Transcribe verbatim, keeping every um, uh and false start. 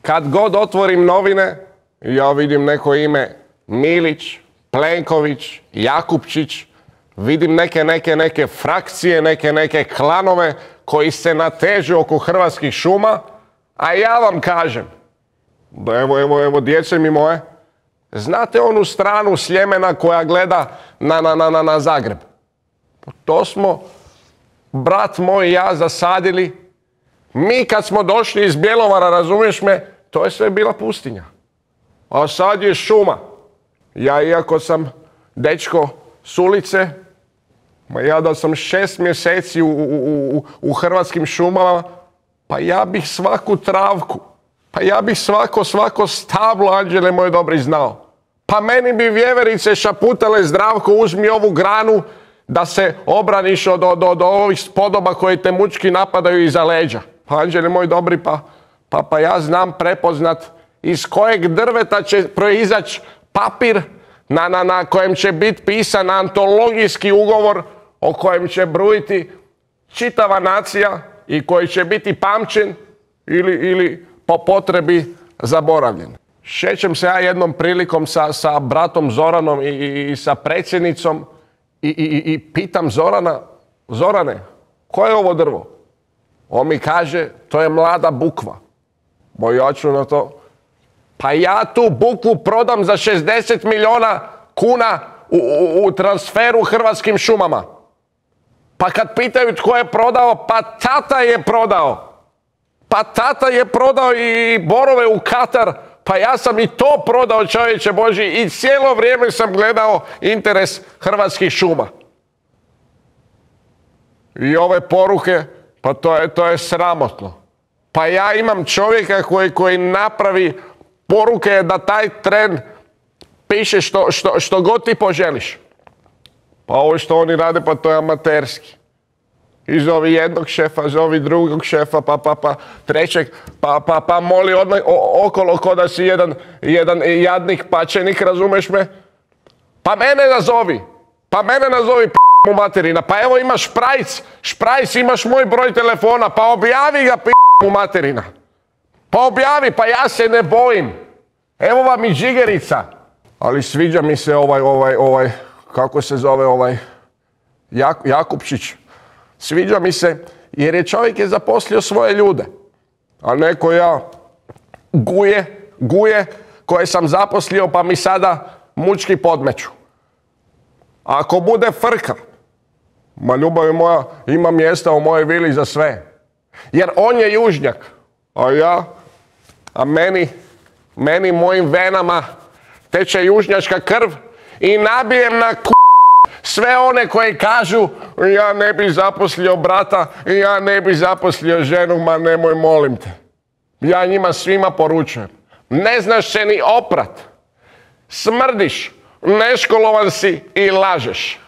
Kad god otvorim novine, ja vidim neko ime Milić, Plenković, Jakupčić, vidim neke, neke, neke frakcije, neke, neke klanove koji se natežu oko Hrvatskih šuma, a ja vam kažem, evo, evo, evo, djece mi moje, znate onu stranu Sljemena koja gleda na, na, na, na Zagreb? To smo, brat moj i ja, zasadili. Mi kad smo došli iz Bjelovara, razumiješ me, to je sve bila pustinja. A sad je šuma. Ja, iako sam dečko s ulice, ma ja da sam šest mjeseci u, u, u, u Hrvatskim šumama, pa ja bih svaku travku, pa ja bih svako, svako stablo, Anđele moj dobri, znao. Pa meni bi vjeverice šaputale: Zdravko, uzmi ovu granu da se obraniš od, od, od ovih spodoba koji te mučki napadaju iza leđa. Pa Anđele moj dobri, pa, pa, pa ja znam prepoznat iz kojeg drveta će proizaći papir na, na, na kojem će biti pisan antologijski ugovor o kojem će brujiti čitava nacija i koji će biti pamćen ili, ili po potrebi zaboravljen. Šećem se ja jednom prilikom sa, sa bratom Zoranom i, i, i sa predsjednicom i, i, i pitam Zorana: Zorane, koje je ovo drvo? On mi kaže: to je mlada bukva. Ja ću na to: pa ja tu bukvu prodam za šezdeset milijuna kuna u, u, u transferu Hrvatskim šumama. Pa kad pitaju tko je prodao, pa tata je prodao. Pa tata je prodao i borove u Katar, pa ja sam i to prodao, čovječe Božji, i cijelo vrijeme sam gledao interes Hrvatskih šuma. I ove poruke, pa to je, to je sramotno. Pa ja imam čovjeka koji, koji napravi poruke da taj tren piše što, što, što god ti poželiš. Pa ovo što oni rade, pa to je amaterski. I zovi jednog šefa, zovi drugog šefa, pa, pa, pa trećeg, pa, pa, pa moli odmah okolo ko da si jedan, jedan jadnik pačenik, razumeš me? Pa mene nazovi, pa mene nazovi p*** mu materina, pa evo imaš šprajc, šprajc, imaš moj broj telefona, pa objavi ga p*** mu materina. Pa objavi, pa ja se ne bojim. Evo vam i džigerica. Ali sviđa mi se ovaj, ovaj, ovaj, kako se zove ovaj, Jak, Jakupčić. Sviđa mi se jer je čovjek je zaposlio svoje ljude. A neko ja guje, guje koje sam zaposlio pa mi sada mučki podmeću. Ako bude frka, ma ljubavi moja, ima mjesta u mojoj vili za sve. Jer on je južnjak, a ja, a meni, meni mojim venama teče južnjačka krv i nabijem na k***. Sve one koji kažu: ja ne bi zaposlio brata, ja ne bi zaposlio ženu, ma nemoj, molim te. Ja njima svima poručujem: ne znaš se ni oprat, smrdiš, neškolovan si i lažeš.